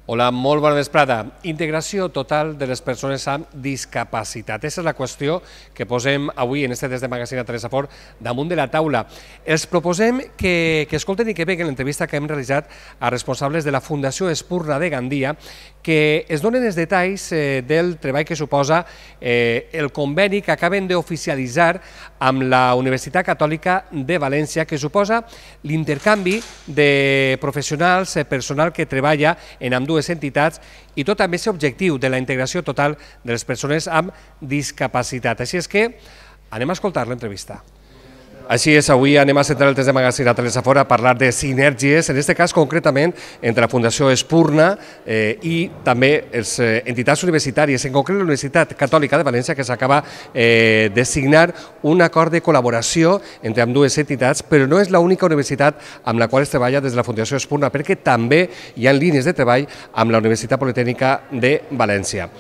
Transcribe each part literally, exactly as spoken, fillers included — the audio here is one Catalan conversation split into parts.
Hola, molt bona vesprada. Integració total de les persones amb discapacitat. Aquesta és la qüestió que posem avui en este Des de Magazine a Teresa Fort damunt de la taula. Els proposem que, que escolten i que veuen l'entrevista que hem realitzat a responsables de la Fundació Espurna de Gandia, que es donen els detalls eh, del treball que suposa eh, el conveni que acaben d'oficialitzar amb la Universitat Catòlica de València, que suposa l'intercanvi de professionals, eh, personal que treballa en ambdues dues entitats i tot amb aquest objectiu de la integració total de les persones amb discapacitat. Així és que anem a escoltar l'entrevista. Així és, avui anem a centrar el Des de Magazine a Teresa Fort a parlar de sinergies, en aquest cas concretament entre la Fundació Espurna eh, i també les eh, entitats universitàries, en concret la Universitat Catòlica de València, que s'acaba eh, de signar un acord de col·laboració entre ambdues entitats, però no és l'única universitat amb la qual es treballa des de la Fundació Espurna, perquè també hi ha línies de treball amb la Universitat Politècnica de València.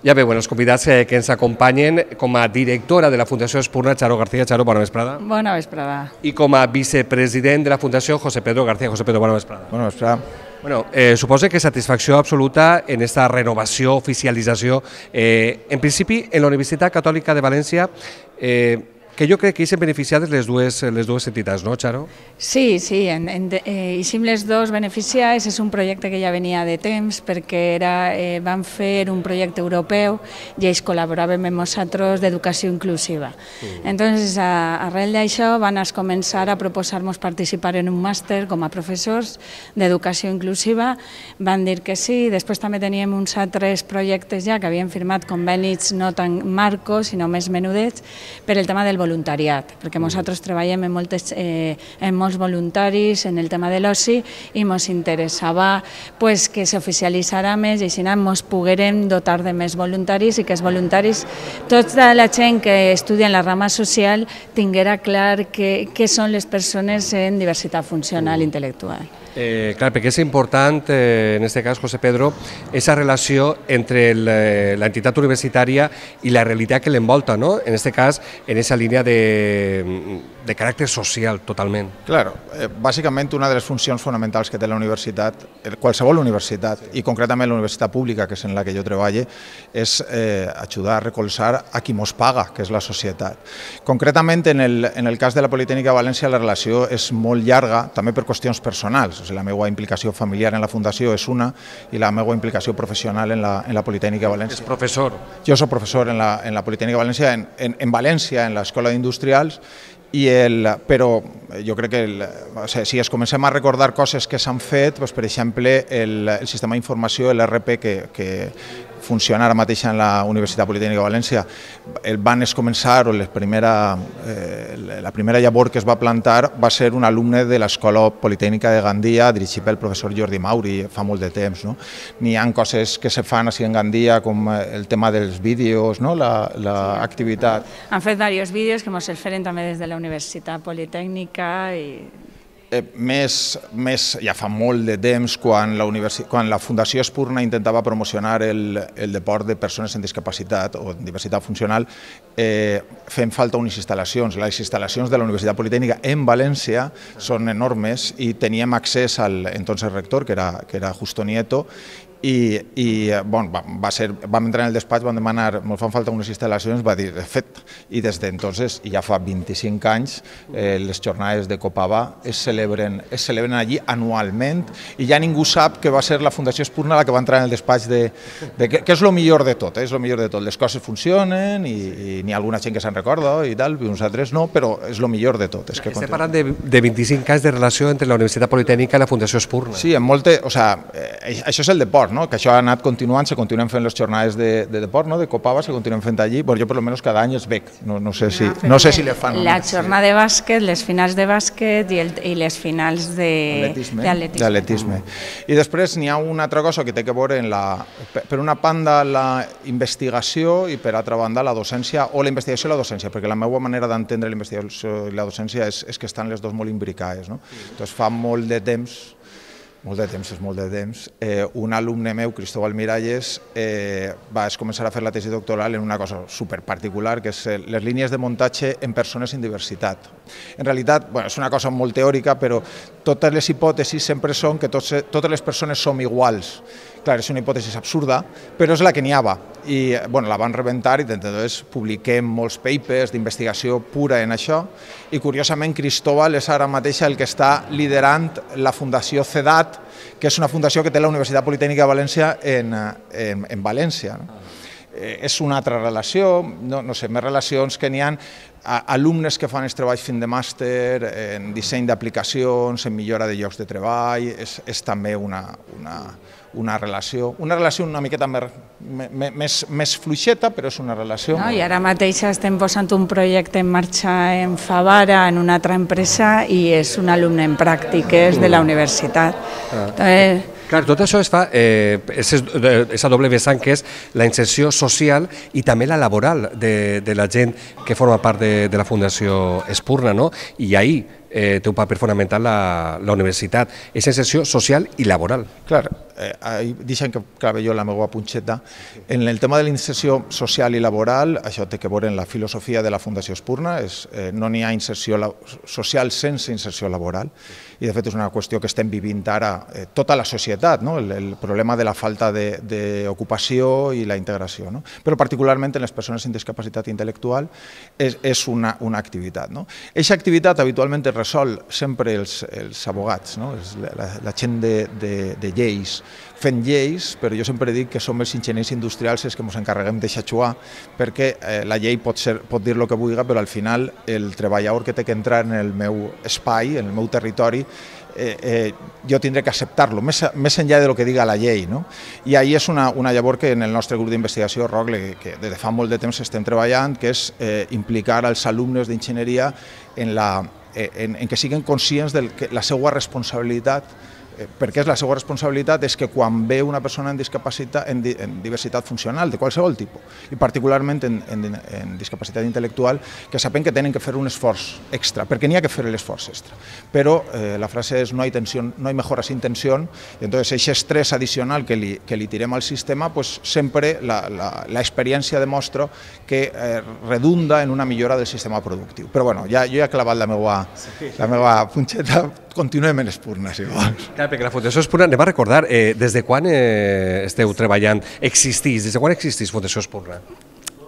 Ja veuen els convidats que ens acompanyen com a directora de la Fundació Espurna, Charo García. Charo, bona vesprada. Bona vesprada. I com a vicepresident de la Fundació, José Pedro García. José Pedro, bona vesprada. Bona vesprada. Bueno, eh, suposo que satisfacció absoluta en esta renovació, oficialització. Eh, en principi, en la Universitat Catòlica de València, eh, que jo crec que hi s'han beneficiat les dues, les dues entitats, no, Charo? Sí, sí, en, en, eh, hi som les dues beneficiades. És un projecte que ja venia de temps perquè era, eh, van fer un projecte europeu i ells col·laboràvem amb nosaltres d'educació inclusiva. Mm. Entonces, a, arrel d'això van a començar a proposar-nos participar en un màster com a professors d'educació inclusiva. Van dir que sí. Després també teníem uns altres projectes ja que havien firmat convenis no tan marcos, sinó més menudets, per el tema del voluntariat, perquè nosaltres treballem en, moltes, eh, en molts voluntaris en el tema de l'oci i ens interessava pues, que s'oficialitzara més i així ens poguérem dotar de més voluntaris i que els voluntaris, tota la gent que estudia en la rama social tinguera clar què són les persones en diversitat funcional i intel·lectual. Eh, clar, perquè és important, eh, en aquest cas, José Pedro, aquesta relació entre l'entitat universitària i la realitat que l'envolta, no? En aquest cas, en aquesta línia de, de caràcter social, totalment. Claro, eh, bàsicament una de les funcions fonamentals que té la universitat, qualsevol universitat, i concretament la universitat pública, que és en la que jo treballo, és eh, ajudar a recolzar a qui mos paga, que és la societat. Concretament, en el, en el cas de la Politècnica de València, la relació és molt llarga, també per qüestions personals. O sigui, la meva implicació familiar en la Fundació és una i la meva implicació professional en la, en la Politècnica de València. És professor? Jo soc professor en la, en la Politècnica de València, en, en, en València, en l'Escola d'Industrials, i el, però jo crec que el, o sigui, si es comencem a recordar coses que s'han fet, doncs, per exemple, el, el sistema d'informació, l'R P, que, que funciona ara mateix en la Universitat Politècnica de València, el van es començar, o la primera, eh, la primera llavor que es va plantar va ser un alumne de l'Escola Politècnica de Gandia, dirigit pel professor Jordi Mauri, fa molt de temps. No? N'hi ha coses que se fan així en Gandia, com el tema dels vídeos, no? l'activitat. La, Han fet diversos vídeos que ens els feren també des de la Universitat Politècnica i... Eh, més, més, ja fa molt de temps, quan la, quan la Fundació Espurna intentava promocionar el, el deport de persones amb discapacitat o diversitat funcional, eh, fem falta unes instal·lacions. Les instal·lacions de la Universitat Politècnica en València són enormes i teníem accés al entonces rector, que era, que era Justo Nieto, i, i bon, va, va ser, vam entrar en el despatx, vam demanar, ens fan falta unes instal·lacions, va dir, de fet, i des d'entonces, i ja fa vint-i-cinc anys, eh, les jornades de Copava es celebren, es celebren allí anualment, i ja ningú sap que va ser la Fundació Espurna la que va entrar en el despatx de... de que, que és el millor de tot, eh, és el millor de tot. Les coses funcionen i, i n'hi ha alguna gent que se'n recorda i tal, i nosaltres no, però és el millor de tot. És que Estem parlant de, de vint-i-cinc anys de relació entre la Universitat Politècnica i la Fundació Espurna. Sí, en molte, o sea, eh, això és el deport, no? Que això ha anat continuant, se continuen fent les jornades de, de deport, no? De Copava, se continuen fent allí. Bueno, jo per almenys cada any els veig, no, no sé si, no sé si le fan. La jornada de bàsquet, les finals de bàsquet i, el, i les finals d'atletisme. I després n'hi ha una altra cosa que té que veure en la, per una banda la investigació i per altra banda la docència, o la investigació i la docència, perquè la meva manera d'entendre la investigació i la docència és, és que estan les dues molt imbricades. No? Doncs fa molt de temps molt de temps, és molt de temps, eh, un alumne meu, Cristóbal Miralles, eh, va començar a fer la tesi doctoral en una cosa superparticular, que és les línies de muntatge en persones amb diversitat. En realitat, bueno, és una cosa molt teòrica, però totes les hipòtesis sempre són que tots, totes les persones som iguals, Clar, és una hipòtesi absurda, però és la que n'hi havia. I bueno, la van rebentar i llavors publiquem molts papers d'investigació pura en això i curiosament Cristóbal és ara mateix el que està liderant la Fundació CEDAT, que és una fundació que té la Universitat Politècnica de València en, en, en València. No? Eh, és una altra relació, no, no sé, més relacions que n'hi ha, alumnes que fan els treballs fin de màster en disseny d'aplicacions, en millora de llocs de treball, és, és també una, una, una relació, una relació una miqueta més, més, més fluixeta, però és una relació. No, I ara mateix estem posant un projecte en marxa en Favara, en una altra empresa, i és un alumne en pràctiques de la universitat. Ah. Entonces, clar, tot això es fa, eh, és a doble vessant que és la inserció social i també la laboral de, de la gent que forma part de, de la Fundació Espurna, no? I ahí eh, té un paper fonamental la, la universitat, és inserció social i laboral. Clar, eh, deixen que clave jo la meva punxeta. En el tema de la inserció social i laboral, això té que veure en la filosofia de la Fundació Espurna, és, eh, no n'hi ha inserció social sense inserció laboral, i de fet és una qüestió que estem vivint ara eh, tota la societat, no? el, el problema de la falta d'ocupació i la integració, no? Però particularment en les persones amb discapacitat intel·lectual és, és una, una activitat. No? Eixa activitat habitualment es resol sempre els, els abogats, no? la, la gent de, de, de lleis, fent lleis, però jo sempre dic que som els enginyers industrials els que ens encarreguem de xatxuar, perquè eh, la llei pot, ser, pot dir el que vulgui, però al final el treballador que té que entrar en el meu espai, en el meu territori, eh, eh, jo tindré que acceptar-lo, més, més enllà del que diga la llei. No? I ahí és una, una llavor que en el nostre grup d'investigació, ROCLE, que des de fa molt de temps estem treballant, que és eh, implicar els alumnes d'enginyeria en, la, en, en que siguin conscients de la seva responsabilitat, perquè és la seva responsabilitat és que quan ve una persona en discapacitat, en, di, en diversitat funcional, de qualsevol tipus, i particularment en, en, en discapacitat intel·lectual, que saben que tenen que fer un esforç extra, perquè n'hi ha que fer l'esforç extra. Però eh, la frase és no hay tensión, no hay mejora sin tensión, i entonces aquest estrès addicional que li, que li tirem al sistema, pues, sempre l'experiència demostra que eh, redunda en una millora del sistema productiu. Però bueno, ja, jo ja he clavat la meva, la meva punxeta, continuem en Espurna, si vols. Clar, perquè la Fundació Espurna, anem a recordar, eh, des de quan eh, esteu treballant, existís, des de quan existís Fundació Espurna?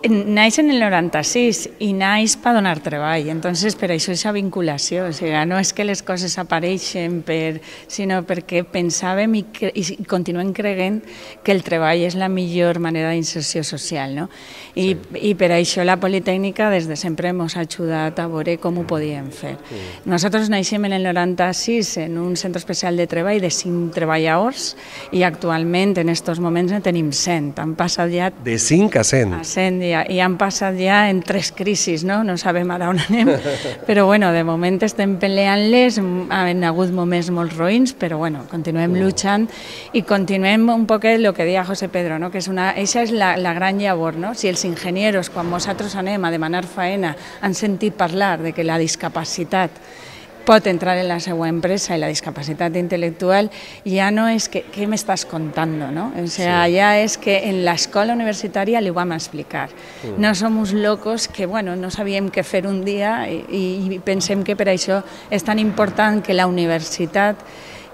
Naix en el noranta-sis i naix per donar treball, entonces per això és la vinculació, o sigui, no és que les coses apareixen, per, sinó perquè pensàvem i, cre i continuem creient que el treball és la millor manera d'inserció social, no? I, sí. I per això la Politècnica des de sempre ens ha ajudat a veure com ho podíem fer. Sí. Nosaltres naixem en el noranta-sis en un centre especial de treball de cinc treballadors i actualment en aquests moments en tenim cent, han passat ja... De cinc a cent? A cent, ja. I han passat ja en tres crisis, no? No sabem ara on anem, però bueno, de moment estem peleant-les, han hagut moments molt roïns, però bueno, continuem luchant i continuem un poc el que deia José Pedro, no? Que és una, eixa és la, la gran llavor, no? Si els enginyers, quan nosaltres anem a demanar faena, han sentit parlar de que la discapacitat pot entrar en la seva empresa i la discapacitat intel·lectual, ja no és que, què m'estàs contant, no? O sea, sí. Ja és que en l'escola universitària li ho vam explicar. Mm. No som uns locos que, bueno, no sabíem què fer un dia i, i pensem que per això és tan important que la universitat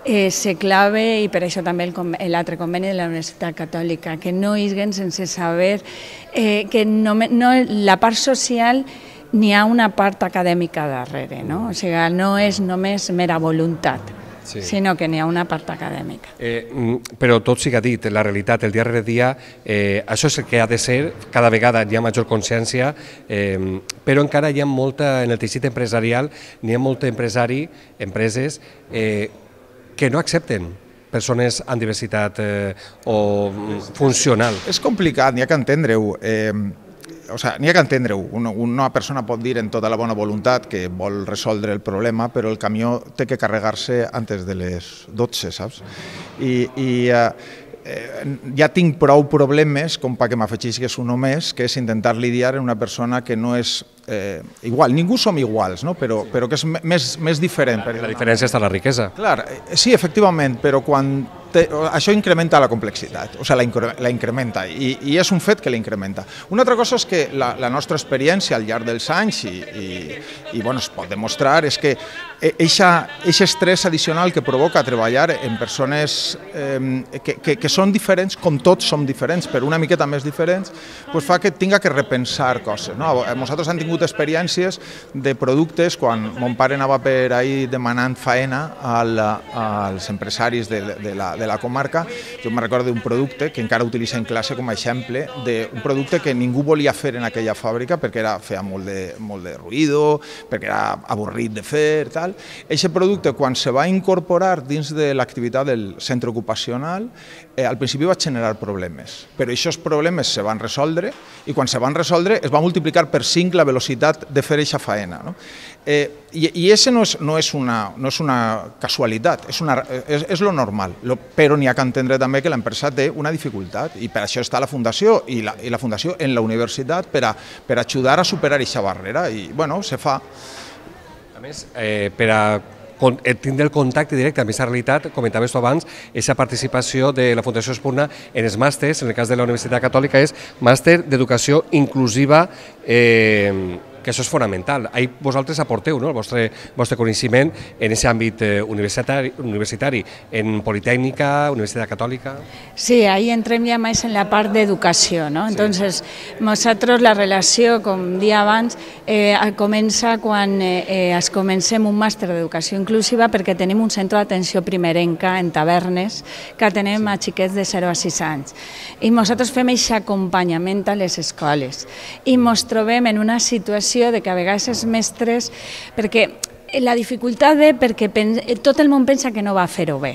eh, se clave, i per això també l'altre conveni de la Universitat Catòlica, que no isguen sense saber eh, que no, no, la part social n'hi ha una part acadèmica darrere, no? O sigui, no és només mera voluntat, sí. Sinó que n'hi ha una part acadèmica. Eh, però tot siga dit, la realitat, el dia rere dia, eh, això és el que ha de ser, cada vegada hi ha major consciència, eh, però encara hi ha molta, en el teixit empresarial, n'hi ha molt empresari, empreses, eh, que no accepten persones amb diversitat eh, o funcional. És complicat, n'hi ha que entendre-ho. Eh, O sigui, n'hi ha que entendre-ho. Una, una persona pot dir en tota la bona voluntat que vol resoldre el problema, però el camió té que carregar-se antes de les dotze, saps? I, i eh, ja tinc prou problemes com perquè m'afegeixis un només, que és intentar lidiar amb una persona que no és eh, igual. Ningú som iguals, no? però, però que és més, més diferent. La diferència està a la riquesa. Clar, sí, efectivament, però quan te, això incrementa la complexitat, o sigui, la, incre, la incrementa, i, i és un fet que la incrementa. Una altra cosa és que la, la nostra experiència al llarg dels anys, i, i, i bueno, es pot demostrar, és que Eixe estrès addicional que provoca treballar en persones eh, que, que, que són diferents, com tots som diferents, però una miqueta més diferents, pues fa que tinga que repensar coses. No? Nosaltres hem tingut experiències de productes, quan mon pare anava per ahí demanant faena al, als empresaris de, de, la, de la comarca, jo me recordo d'un producte que encara utilitzo en classe com a exemple, d'un producte que ningú volia fer en aquella fàbrica perquè era, feia molt de, molt de ruïdo, perquè era avorrit de fer, tal. Aquest producte, quan se va incorporar dins de l'activitat del centre ocupacional, eh, al principi va generar problemes, però aquests problemes se van resoldre i quan se van resoldre es va multiplicar per cinc la velocitat de fer aquesta faena. No? Eh, I i això no és, no és, una, no és una casualitat, és, una, és, és lo normal, lo, però n'hi ha que entendre també que l'empresa té una dificultat i per això està la Fundació i la, i la Fundació en la universitat per a, per ajudar a superar aquesta barrera i bueno, se fa. A més, eh, per a tindre el contacte directe amb aquesta realitat, comentaves tu abans, aquesta participació de la Fundació Espurna en els màsters, en el cas de la Universitat Catòlica, és màster d'educació inclusiva, eh, que això és fonamental. Ahí vosaltres aporteu no? el vostre, vostre coneixement en aquest àmbit eh, universitari, universitari, en Politècnica, Universitat Catòlica. Sí, ahí entrem ja més en la part d'educació, ¿no? Entonces, sí. Nosaltres la relació, com dia abans, eh, comença quan eh, es comencem un màster d'educació inclusiva perquè tenim un centre d'atenció primerenca en Tavernes que atenem sí. a xiquets de zero a sis anys. I nosaltres fem aquest acompanyament a les escoles i ens trobem en una situació de que a vegades els mestres, perquè la dificultat ve perquè tot el món pensa que no va fer-ho bé.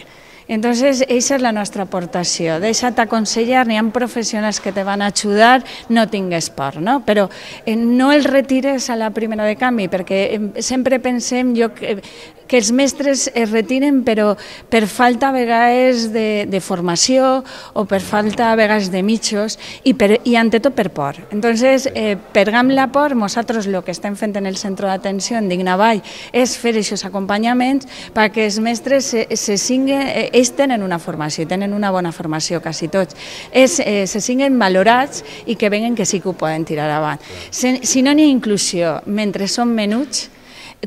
Entonces, esa és la nostra aportació. Deixa't aconsellar, n'hi ha professionals que te van a ajudar, no tingues por, no? Però eh, no el retires a la primera de canvi, perquè eh, sempre pensem jo que, que els mestres es retiren però per falta a vegades de, de formació o per falta a vegades de mitjos i, per, i ante tot per por. Entonces, eh, pergam la por, nosaltres el que estem fent en el centre d'atenció en Dignavall és fer aquests acompanyaments perquè els mestres se, se singuen, eh, ells tenen una formació, tenen una bona formació, quasi tots, és, eh, se siguin valorats i que veguen que sí que ho poden tirar avant. Si, si no n'hi ha inclusió, mentre són menuts,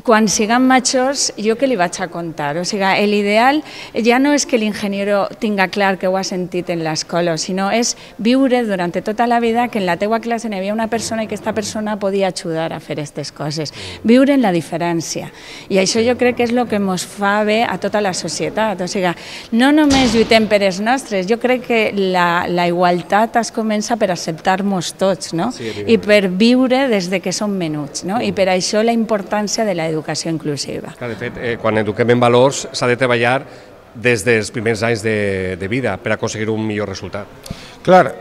quan siguem majors, jo què li vaig a contar? O sigui, l'ideal ja no és que l'ingeniero tinga clar que ho ha sentit en l'escola, sinó és viure durant tota la vida que en la teua classe n'hi havia una persona i que aquesta persona podia ajudar a fer aquestes coses. Viure en la diferència. I això jo crec que és el que ens fa bé a tota la societat. O sigui, no només lluitem per els nostres, jo crec que la, la igualtat es comença per acceptar-nos tots, no? Sí, i per viure des de que som menuts, no? I per això la importància de la educació inclusiva. Clar, de fet, eh, quan eduquem en valors s'ha de treballar des dels primers anys de, de vida per aconseguir un millor resultat. Clar,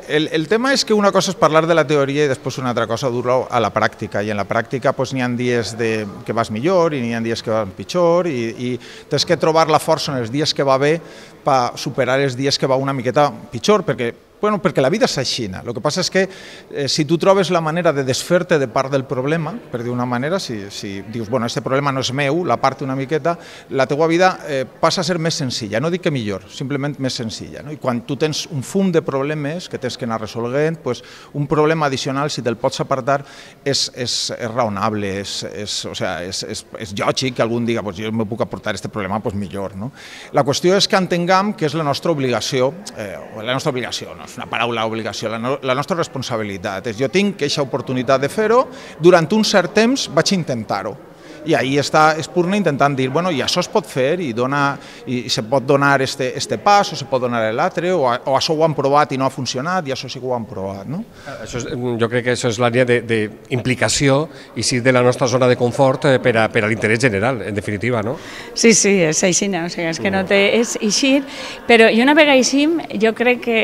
el, el tema és que una cosa és parlar de la teoria i després una altra cosa dur-ho a la pràctica, i en la pràctica pues, n'hi ha dies de, que vas millor i n'hi ha dies que vas pitjor i, i tens que trobar la força en els dies que va bé per superar els dies que va una miqueta pitjor, perquè Bueno, perquè la vida és així. El que passa és que eh, si tu trobes la manera de desfer-te de part del problema, per dir una manera, si, si dius, bueno, aquest problema no és meu, la part una miqueta, la teua vida eh, passa a ser més senzilla. No dic que millor, simplement més senzilla. No? I quan tu tens un fum de problemes que tens que anar resolent, pues, un problema addicional, si te'l pots apartar, és, és, és raonable, és, és, o sea, és, és, és lògic que algun diga, pues, jo me puc aportar aquest problema, pues, millor. No? La qüestió és que entenguem que és la nostra obligació, eh, la nostra obligació, no? És una paraula obligació, la, no, la nostra responsabilitat. És, jo tinc aquesta oportunitat de fer-ho, durant un cert temps vaig intentar-ho. I ahí està Espurna intentant dir, bueno, i això es pot fer i, dona, i se pot donar este, este pas o se pot donar l'altre, o, o això ho han provat i no ha funcionat i això sí que ho han provat. No? Això és, jo crec que això és l'àrea d'implicació i sí de la nostra zona de confort per a, per a l'interès general, en definitiva, no? Sí, sí, és així, no? O sigui, és que no té, és així, però i una vegada així, jo crec que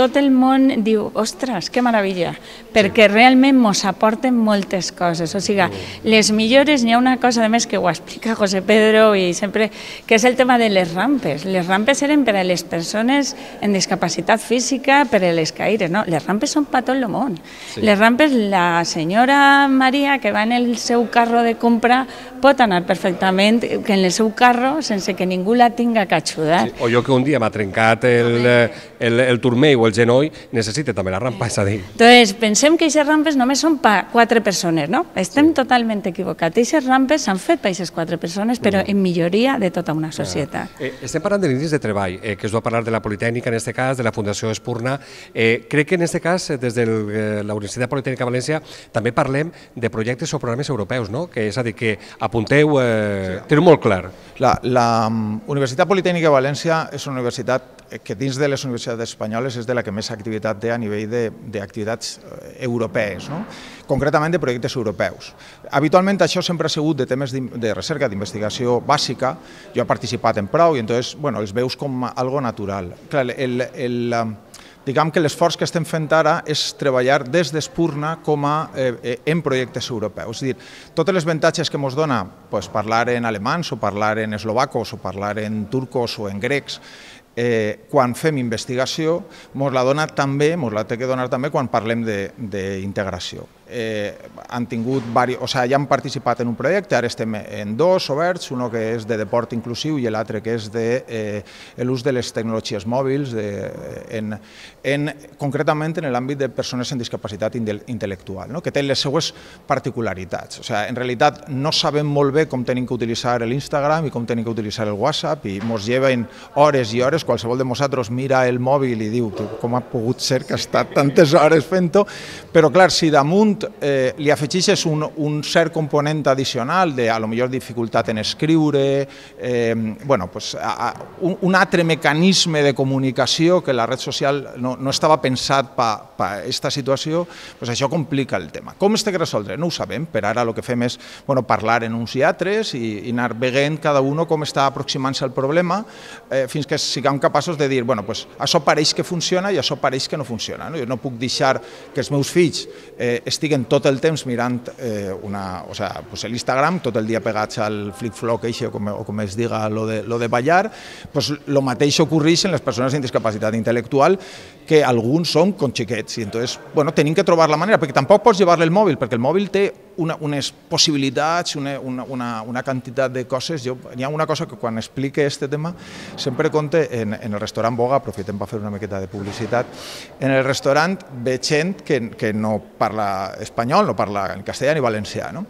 tot el món diu, ostres, que meravella, perquè sí. realment ens aporten moltes coses, o sigui, les millores, n'hi ha una cosa de més que ho explica José Pedro i sempre, que és el tema de les rampes. Les rampes eren per a les persones en discapacitat física, per a les caires, no? Les rampes són per tot el món. Sí. Les rampes, la senyora Maria, que va en el seu carro de compra, pot anar perfectament que en el seu carro sense que ningú la tinga que ajudar. Sí. O jo que un dia m'ha trencat el, el, el turmell o el genoll, necessite també la rampa, és a dir. Entonces, pensem que aquestes rampes només són per quatre persones, no? Estem sí. totalment equivocats. Aquestes rampes exemples s'han fet per aquestes quatre persones, però en milloria de tota una societat. Eh, estem parlant de línies de treball, eh, que es va parlar de la Politècnica, en aquest cas, de la Fundació Espurna. Eh, crec que en aquest cas, des de eh, la Universitat Politècnica de València, també parlem de projectes o programes europeus, no? Que és a dir, que apunteu, eh, teniu molt clar. La, la um, Universitat Politècnica de València és una universitat que dins de les universitats espanyoles és de la que més activitat té a nivell d'activitats europees, no? Concretament de projectes europeus. Habitualment això sempre ha sigut de temes de recerca, d'investigació bàsica. Jo he participat en prou i entonces, bueno, els veus com algo natural. Clar, el, el, diguem que l'esforç que estem fent ara és treballar des d'Espurna com a eh, en projectes europeus. És a dir, totes les avantatges que ens dona pues, parlar en alemans o parlar en eslovacos o parlar en turcos o en grecs, Eh, quan fem investigació, ens la dona també, ens la té que donar també quan parlem d'integració. Eh, han tingut vari... o sigui, ja han participat en un projecte, ara estem en dos oberts, un que és de deport inclusiu i l'altre que és de eh, l'ús de les tecnologies mòbils, de, en, en, concretament en l'àmbit de persones amb discapacitat intel·lectual, no? Que té les seues particularitats. O sigui, en realitat no sabem molt bé com tenim que utilitzar l'Instagram i com tenim que utilitzar el WhatsApp i ens lleven hores i hores, qualsevol de nosaltres mira el mòbil i diu com ha pogut ser que ha estat tantes hores fent-ho, però clar, si damunt Eh, li afegeixes un, un cert component addicional de, a lo millor, dificultat en escriure, eh, bueno, pues, a, a, un, un altre mecanisme de comunicació que la red social no, no estava pensat per pa aquesta situació, pues això complica el tema. Com es té que resoldre? No ho sabem, per ara el que fem és bueno, parlar en uns i altres i, i anar veient cada un com està aproximant-se al problema eh, fins que siguem capaços de dir, bueno, pues, això pareix que funciona i això pareix que no funciona. No? Jo no puc deixar que els meus fills eh, estiguen tot el temps mirant eh, una, o sea, pues l'Instagram, tot el dia pegats al flic-floc o, com, o com es diga lo de, lo de ballar, pues lo mateix ocorreix en les persones amb discapacitat intel·lectual, que alguns són com xiquets, i entonces, bueno, tenim que trobar la manera, perquè tampoc pots llevar-li el mòbil, perquè el mòbil té una, unes possibilitats, una, una, una, una quantitat de coses. Jo, hi ha una cosa que quan explique aquest tema sempre conte en, en el restaurant Boga, aprofitem per fer una miqueta de publicitat, en el restaurant veig gent que, que no parla espanyol, no parla en castellà ni valencià, no?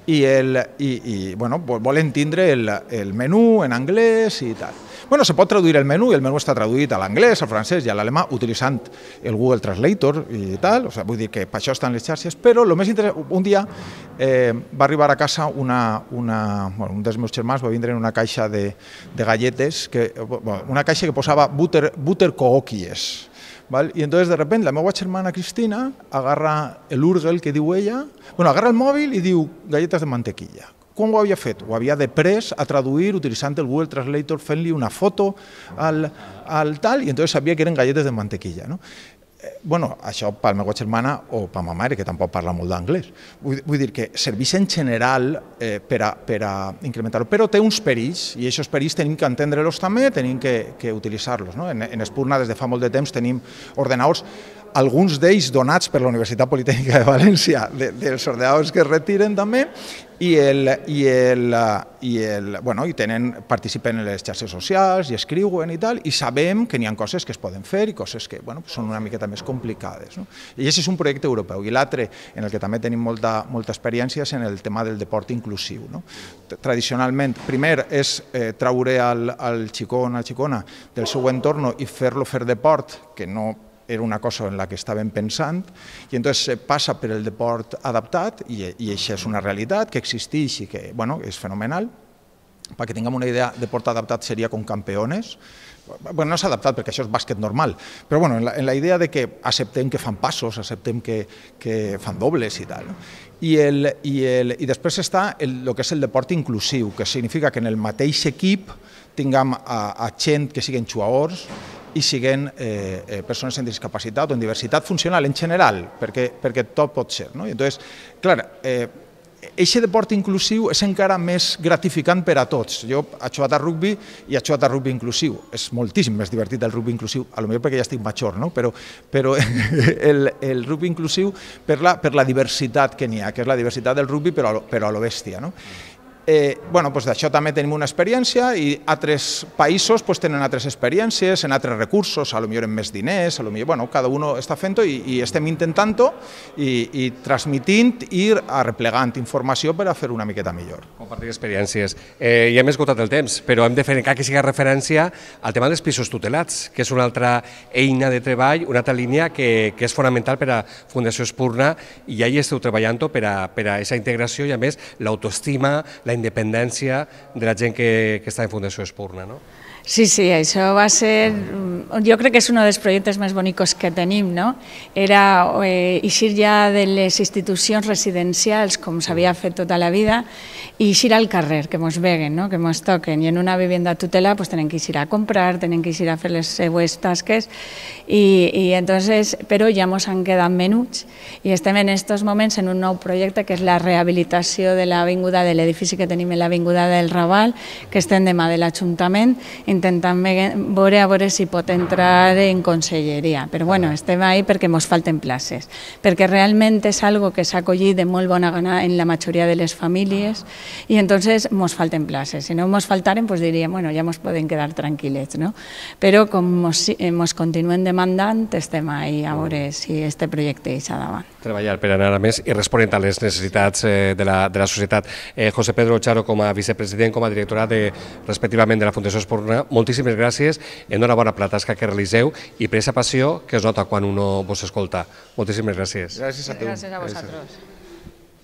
I, el, i, i bueno, volen tindre el, el menú en anglès i tal. Bueno, se pot traduir el menú i el menú està traduït a l'anglès, al francès i a l'alemà utilitzant el Google Translator i tal, o sigui, vull dir que per això estan les xarxes, però el més interessant, un dia eh, va arribar a casa una, una, bueno, un dels meus germans va vindre en una caixa de, de galletes, que, bueno, una caixa que posava butter, butter cookies. ¿Vale? Y entonces de repente la meva germana Cristina agarra el Urgel que diu ella, bueno, agarra el mòbil i diu galletes de mantequilla. Com ho havia fet? Ho havia després a traduir utilitzant el Google Translator, fent-li una foto al, al tal, i entonces sabia que eren galletes de mantequilla, no? Bueno, això per la meva germana o per ma mare, que tampoc parla molt d'anglès. Vull, vull dir que serveix en general eh, per, a, per a incrementar-ho, però té uns perills, i aquests perills tenim que entendre-los també, tenim que, que utilitzar-los. No? En, en Espurna, des de fa molt de temps, tenim ordenadors, alguns d'ells donats per la Universitat Politècnica de València, de, dels ordenadors que es retiren també, i, el, i, el, i, el, bueno, i tenen, participen en les xarxes socials i escriuen i tal, i sabem que n'hi ha coses que es poden fer i coses que bueno, són una miqueta més complicades. No? I aquest és un projecte europeu. I l'altre, en el que també tenim molta, molta experiència, és en el tema del deport inclusiu. No? Tradicionalment, primer és eh, traure al, al xicó o la xicona del seu entorn i fer-lo fer deport, que no era una cosa en la que estàvem pensant, i entonces passa per el deport adaptat, i, i això és una realitat que existeix i que bueno, és fenomenal. Perquè tinguem una idea, deport adaptat seria com campeones. Bueno, no és adaptat perquè això és bàsquet normal, però bueno, en, la, en la idea de que acceptem que fan passos, acceptem que, que fan dobles i tal. No? I, el, i, el, I després està el, el que és el deport inclusiu, que significa que en el mateix equip tinguem a, a gent que siguin jugadors i siguin eh, eh, persones amb discapacitat o amb diversitat funcional en general, perquè, perquè tot pot ser. No? I entonces, clar, eh, aquest deport inclusiu és encara més gratificant per a tots. Jo he jugat a rugby i he jugat a rugby inclusiu. És moltíssim més divertit el rugby inclusiu, potser perquè ja estic major, no? però, però el, el rugby inclusiu per la, per la diversitat que n'hi ha, que és la diversitat del rugby però, però a lo bèstia. No? Eh, bueno, pues d'això també tenim una experiència i altres països pues, tenen altres experiències, en altres recursos, a lo millor en més diners, a lo millor, bueno, cada uno està fent-ho i, i estem intentant-ho i, i transmitint i arreplegant informació per a fer una miqueta millor. Compartir experiències. Eh, ja hem esgotat el temps, però hem de fer encara que sigui referència al tema dels pisos tutelats, que és una altra eina de treball, una altra línia que, que és fonamental per a Fundació Espurna i ja hi esteu treballant per a aquesta integració i a més l'autoestima, la independència de la gent que, que està en Fundació Espurna, no? Sí, sí, això va ser, jo crec que és un dels projectes més bonics que tenim, no? Era eh, eixir ja de les institucions residencials, com s'havia fet tota la vida, i eixir al carrer, que ens veguen, no? Que ens toquen. I en una vivenda tutela pues, tenen que eixir a comprar, tenen que eixir a fer les seues tasques, i, i entonces, però ja ens han quedat menuts, i estem en aquests moments en un nou projecte que és la rehabilitació de l'avinguda, de l'edifici que tenim en l'avinguda del Raval, que estem demà de l'Ajuntament, intentant veure a veure si pot entrar en conselleria. Però bueno, estem ahí perquè ens falten places, perquè realment és algo que s'ha acollit de molt bona gana en la majoria de les famílies i entonces ens falten places. Si no ens faltaren, pues diríem, bueno, ja ens podem quedar tranquil·lets, no? Però com ens continuen demandant, estem ahí a veure si este projecte és davant. Treballar per anar a més i responent a les necessitats de la, de la societat. Eh, José Pedro Charo, com a vicepresident, com a directora de, respectivament de la Fundació Espurna, moltíssimes gràcies, enhorabona per la tasca que realitzeu i per aquesta passió que es nota quan uno vos escolta. Moltíssimes gràcies. Gràcies a tu. Gràcies a vosaltres.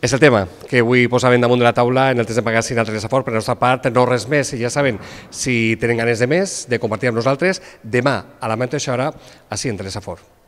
És el tema que avui posàvem damunt de la taula en el test de magazine a Teresa Fort. Per la nostra part, no res més. I ja saben, si tenen ganes de més, de compartir amb nosaltres, demà a la mateixa hora, així en Teresa Fort.